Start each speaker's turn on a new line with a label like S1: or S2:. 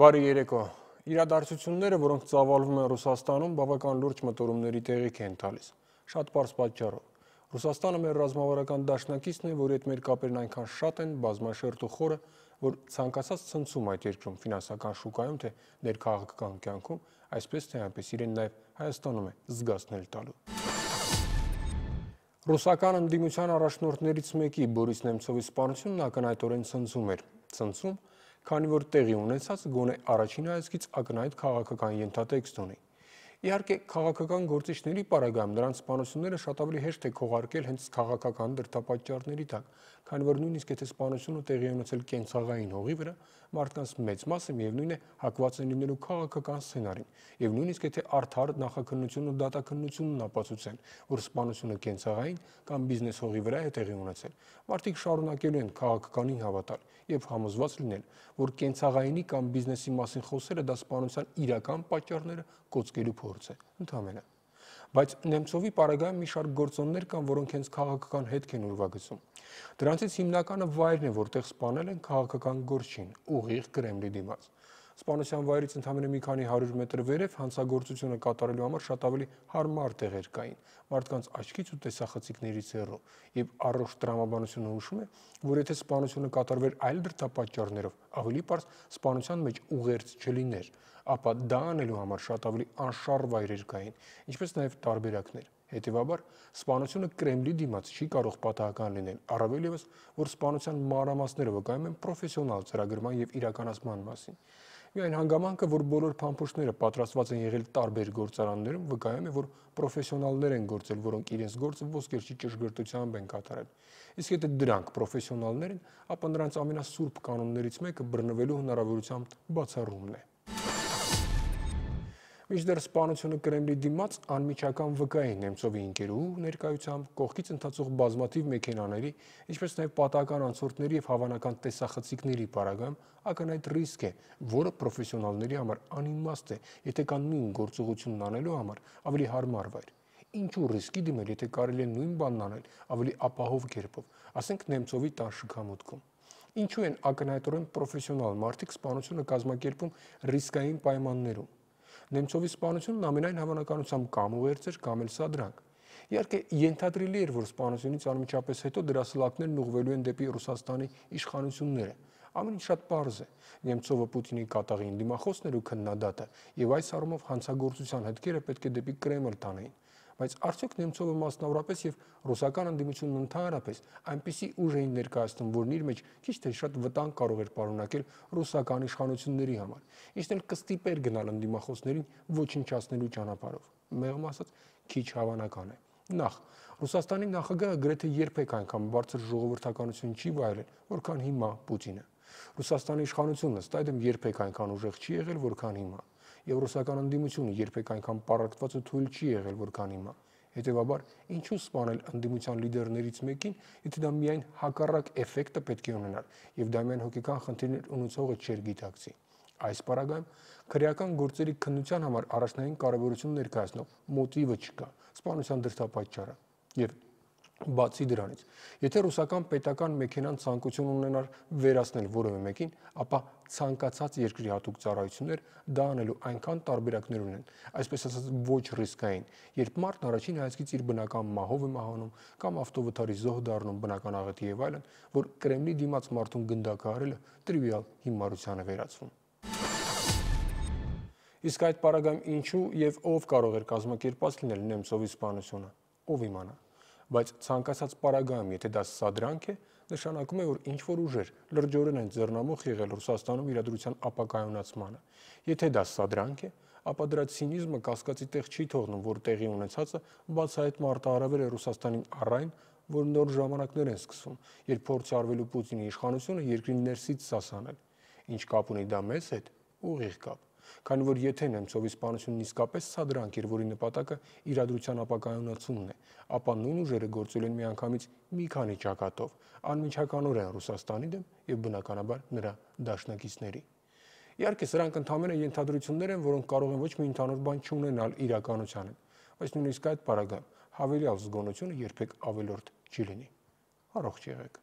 S1: Բարի երեկո։ Իրադարձությունները, որոնք ծավալվում են Ռուսաստանում, բավական լուրջ մտորումների տեղիք են տալիս։ Շատ պարզ պատճառով։ Ռուսաստանը մեր ռազմավարական դաշնակիցն է, որի հետ մեր կապերն այնքան շատ են, բազմաշերտ ու խորը, որ ցանկացած ցնցում այդ երկրում ֆինանսական շուկայում, թե ներքաղաքական կյանքում, այսպես թե այնպես իրեն նաև Հայաստանում է զգացնել տալու։ Ռուսական ընդդիմության առաջնորդներից մեկի Բորիս Նեմցովի սպանությունն ակնհայտորեն ցնցում էր։ Ցնցում, քանի որ տեղի ունեցած գոնե առաջին հայացքից ակնհայտ քաղաքական ենթատեքստ ունի։ Իհարկե, քաղաքական գործիչների պարագայում նրանց սպանությունները շատ ավելի հեշտ է քողարկել հենց քաղաքական դրդապատճառների տակ, քանի որ նույնիսկ եթե սպանությունը տեղի է ունեցել կենցաղային հողի վրա, մարդկանց մեծ մասը միևնույն է հակված են լինելու քաղաքական սցենարին, եւ նույնիսկ եթե արդար նախաքննությունն ու դատաքննությունն ապացուցեն, որ սպանությունը կենցաղային կամ բիզնես հողի վրա է տեղի ունեցել, մարդիկ շարունակելու են քաղաքականին հավատալ եւ համոզված լինել, որ կենցաղայինի կամ բիզնեսի մասին խոսելը դա սպանության իրական պատճառները կոծկելու փորձ է, ընդհանրապես։ Բայց Նեմցովի պարագայում մի շարք գործոններ կան, որոնք հենց քաղաքական հետք են ուրվագծում։ Դրանցից հիմնականը վայրն է, որտեղ սպանել են քաղաքական գործչին, ուղիղ Կրեմլի դիմաց։ Սպանության վայրից ընդամենը մի քանի 100 մետր վերև հանցագործությունը կատարելու համար շատ ավելի հարմար տեղեր կային, մարդկանց աչքից ու տեսախցիկներից հեռու, եւ առողջ տրամաբանությունը հուշում է, որ եթե սպանությունը կատարվեր այլ դրդապատճառներով, ավելի պարզ սպանության մեջ ուղերձ չլիներ, ապա դա անելու համար շատ ավելի անշարժ վայրեր կային, ինչպես նաև տարբերակներ։ Հետևաբար, սպանությունը Կրեմլի դիմաց չի կարող պատահական լինել, առավել ևս, որ սպանության մանրամասները վկայում են պրոֆեսիոնալ ծրագրման եւ իրականացման մասին։ Միայն հանգամանքը, որ բոլոր փամփուշտները պատրաստված են եղել տարբեր գործարաններում, վկայում է, որ պրոֆեսիոնալներ են գործել, որոնք իրենց գործը ոսկերչի ճշգրտությամբ են կատարել։ Իսկ եթե դրանք պրոֆեսիոնալներ են, ապա նրանց ամենասուրբ կանոններից մեկը բռնվելու հնարավորության բացառումն է։ Մինչդեռ սպանությունը Կրեմլի դիմաց անմիջական վկայի Նեմցովի ընկերուհու ներկայությամբ կողքից ընթացող բազմաթիվ մեքենաների, ինչպես նաև պատահական անցորդների եւ հավանական տեսախցիկների պարագայում ակնհայտ ռիսկ է, որը պրոֆեսիոնալների համար անիմաստ է, եթե կան նույն գործողությունն անելու համար ավելի հարմար վայր։ Ինչու ռիսկի դիմել, եթե կարելի է նույն բանն անել ավելի ապահով կերպով, ասենք Նեմցովի տան շքամուտքում։ Ինչու են ակնհայտորեն պրոֆեսիոնալ մարդիկ սպանությունը կազմակերպում ռիսկային պայմաններում։ Նեմցովի սպանությունն ամենայն հավանականությամբ կամ ուղերձ էր, կամ էլ սադրանք։ Իհարկե, ենթադրելի էր, որ սպանությունից անմիջապես հետո դրա սլաքներն ուղղվելու են դեպի Ռուսաստանի իշխանությունները։ Ամեն ինչ շատ պարզ է։ Նեմցովը Պուտինի կատաղի դիմախոսն էր ու քննադատը, եւ այս առումով հանցագործության հետքերը պետք է դեպի Կրեմլ տանեին։ Բայց արդյոք Նեմցովը մասնավորապես եւ ռուսական ընդդիմությունն ընդհանրապես այնպիսի ուժ էին ներկայացնում, որն իր մեջ քիչ թե շատ վտանգ կարող էր պարունակել ռուսական իշխանությունների համար, ինչն էլ կստիպեր գնալ ընդդիմախոսներին ոչնչացնելու ճանապարհով։ Մեղմ ասած, քիչ հավանական է։ Նախ, Ռուսաստանի նախագահը գրեթե երբեք այնքան բարձր ժողովրդականություն չի վայելել, որքան հիմա Պուտինը։ Ռուսաստանի իշխանությունն ըստ այդմ երբեք այնքան ուժեղ չի եղել, որքան հիմա։ Եվ ռուսական ընդդիմությունը երբեք այնքան պառակտված ու թույլ չի եղել, որքան հիմա։ Հետևաբար, ինչու սպանել ընդդիմության լիդերներից մեկին, եթե դա միայն հակառակ էֆեկտը պետք է ունենար, եւ դա միայն հոգեկան խնդիրներ ունեցողը չէր գիտակցի։ Այս պարագայում քրեական գործերի քննության համար առաջնային կարևորություն ներկայացնող մոտիվը չկա, սպանության դրդապատճառը։ Եվ բացի դրանից, եթե ռուսական պետական մեքենան ցանկություն ունենար վերացնել որևէ մեկին, ապա ցանկացած երկրի հատուկ ծառայություններ դա անելու այնքան տարբերակներ ունեն, այսպես ասած ոչ ռիսկային, երբ մարդն առաջին հայացքից իր բնական մահով է մահանում կամ ավտովթարի զոհ դառնում բնական աղետի եւ այլն, որ Կրեմլի դիմաց մարդուն գնդակահարելը տրիվիալ հիմարության է վերածվում։ Իսկ այդ պարագայում ինչու եւ ով կարող էր կազմակերպած լինել Նեմցովի սպանությունը, ով իմանա։ Բայց ցանկացած պարագայում, եթե դա սադրանք է, նշանակում է, որ ինչ-որ ուժեր լրջորեն են ձեռնամուխ եղել Ռուսաստանում իրադրության ապակայունացմանը։ Եթե դա սադրանք է, ապա դրա ցինիզմը կասկածի տեղ չի թողնում, որ տեղի ունեցածը բացահայտ մարտահրավեր է Ռուսաստանին առայն, որ նոր ժամանակներ են սկսվում, երբ փորձ արվելու Պուտինի իշխանությունը երկրի ներսից սասանել։ Ինչ կապ ունի դա մեզ հետ, ուղիղ կապ։ Քանի որ եթե Նեմցովի սպանությունն իսկապես սադրանք էր, որի նպատակը իրադրության ապակայունացումն է, ապա նույն ուժերը գործել են միանգամից մի քանի ճակատով, անմիջականորեն Ռուսաստանի դեմ եւ բնականաբար նրա դաշնակիցների։ Իհարկե, սրանք ընդհանրապես ենթադրություններ են, որոնք կարող են ոչ մի ընդհանուր բան չունենալ իրականության հետ, բայց նույնիսկ այդ պարագայում հավելյալ զգոնությունը երբեք ավելորդ չի լինի։ Առողջ եղեք։